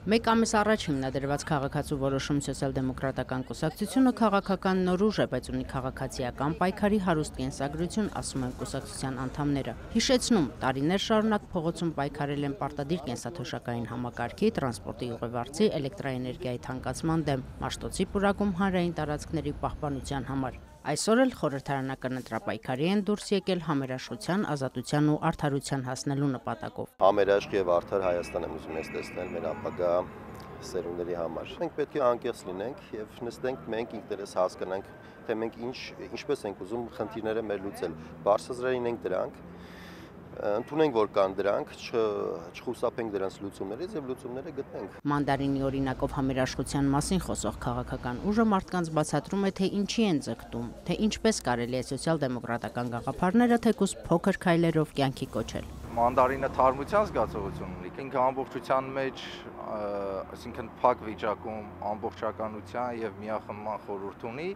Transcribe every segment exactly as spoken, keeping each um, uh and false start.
Մեկ ամիս առաջ հիմնադրված քաղաքացու որոշում սոցիալ-դեմոկրատական կուսակցությունը քաղաքական նորուժ է, բայց ունի քաղաքացիական պայքարի հարուստ կենսագրություն, ասում են կուսակցության անդամները։ Հիշեցնում, տարիներ շարունակ փողոցում պայքարել են պարտադիր կենսաթոշակային համակարգի, տրանսպորտի ուղևորցի, էլեկտրաէներգիայի թանկացման դեմ, Մաշտոցի պուրակում հանրային տարածքների պահպանության համար։ Այսօր էլ խորհրդարանական ընտրապայքարի են դուրս եկել համերաշխության, ազատության ու արդարության հասնելու նպատակով։ Համերաշխ եւ արդար Հայաստան եմ ուզում ես տեսնել մեր ապագա սերունդների համար։ Մենք պետք է անկեղծ լինենք եւ նստենք մենք ինքներս հասկանանք, թե մենք ինչ ինչպես ենք ուզում խնդիրները մեր լուծել։ Բարձրացրին ենք դրանք, ընդունենք, որ կան դրանք, չխուսափենք դրանց լուծումներից եւ լուծումները գտնենք։ Մանդարինի օրինակով համերաշխության մասին խոսող քաղաքական ուժը մարդկանց բացատրում է, թե ինչի են ձգտում, թե ինչպես կարելի է սոցիալ-դեմոկրատական գաղափարները թեկուզ փոքր քայլերով կյանքի կոչել։ Մանդարինը թարմության զգացողություն ունի, ինքը ամբողջության մեջ, այսինքն փակ վիճակում ամբողջականության եւ միախմբման խորհուրդ ունի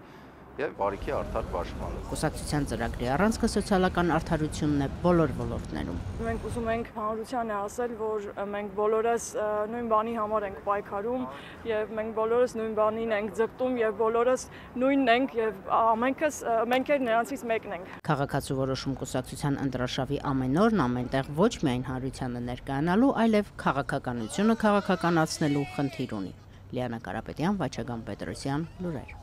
եւ բարիքի արդար պաշտպանում։ Կուսակցության ծրագրի առանցքը սոցիալական արդարությունն է բոլոր ոլորտներում։ Մենք ուզում ենք հանրությանը ասել, որ մենք բոլորս նույն բանի համար ենք պայքարում եւ մենք բոլորս նույն բանին ենք ձգտում եւ բոլորս նույնն ենք եւ ամենքս մենք էլ նրանցից մեկն ենք։ Քաղաքացու որոշում կուսակցության ընտրաշավի ամեն օրն ամենտեղ ոչ միայն հանրությանը ներկայանալու, այլև քաղաքականությունը քաղաքականացնելու խնդիր ունի։ Լիանա Կարապետյան, Վաչագան Պետրոսյան, լուրեր։